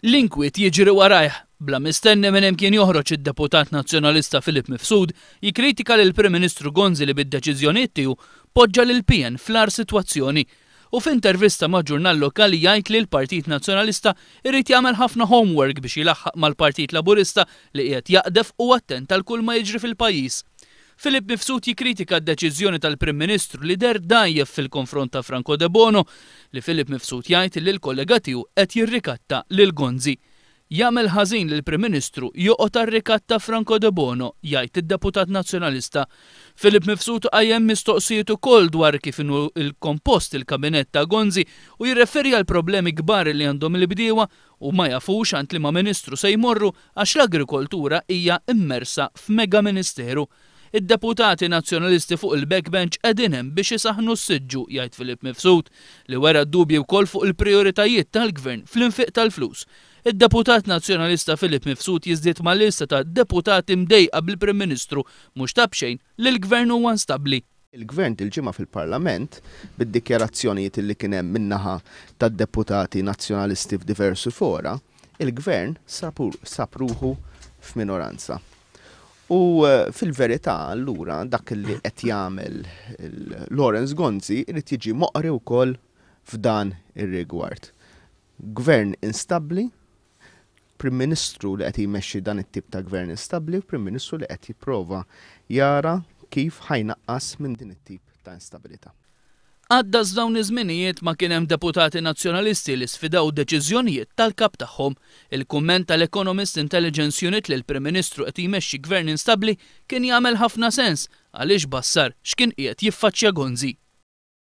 L-inkwiet jiġri warajh. Bla mistenni minn hemm kien joħroġ id-deputat Nazzjonalista Philip Mifsud jikkritika lill-Prim Ministru Gonzi li bid-deċiżjonijiet tiegħu poġġa lill-PN fl-agħar sitwazzjoni. U f'intervista ma' ġurnal lokali jgħid li l-Partit Nazzjonalista jrid jagħmel ħafna homework biex ilaħħaq mal-Partit Laburista li qiegħed jaqdef u attent għal kull ma jiġri fil-pajjiż. Philip Mifsud jikkritika d-deċiżjoni tal-Prim Ministru li deher dgħajjef fil-konfront ta' Franco Debono, li Philip Mifsud jgħid li l-kollega tiegħu qed jirrikatta lil Gonzi. Jagħmel ħażin li l-Prim Ministru joqgħod għar-rikatt ta' Franco Debono, jgħid id-deputat Nazzjonalista. Philip Mifsud qajjem mistoqsijiet ukoll dwar kif inhu l-kompost il-kabinett ta' Gonzi u jirreferi għall-problemi kbar li għandhom il-bdiewa u ma jafux għand liema ministru se jmorru għax l-agrikoltura hija immersa f'mega ministeru. Id-deputati Nazzjonalisti fuq il-backbench qegħdin hemm biex isaħħnu s-siġġu, jgħid Philip Mifsud, li wera dubji wkoll fuq il-prijoritajiet tal-Gvern fl-infiq tal-flus. Id-deputat Nazzjonalista Philip Mifsud jiżdied mal-lista ta' deputati mdejqa bil-Prim Ministru mhux ta' b'xejn li l-Gvern huwa instabbli. Il-Gvern dil-ġimgħa fil-Parlament, bid-dikjarazzjonijiet li kien hemm min-naħa tad-deputati Nazzjonalisti f'diversi fora, il-Gvern sab ruħu f'minoranza. U fil-verità allura dak li qed jagħmel Lawrence Gonzi jrid jiġi moqri wkoll f'dan ir-rigward. Gvern instabbli, Prim Ministru li qed jmexxi dan it-tip ta' gvern instabbli u Prim Ministru li qed jipprova jara kif ħa jnaqqas minn din it-tip ta' instabilità. Għaddas f'dawn iż-żminijiet ma kien hemm deputati Nazzjonalisti li sfidaw deċiżjonijiet tal-Kap tagħhom. Il-kumment tal-Economist Intelligence Unit li l-Prim Ministru qed jmexxi gvern instabbli kien jagħmel ħafna sens għaliex bassar x'kien qiegħed jiffaċċja Gonzi.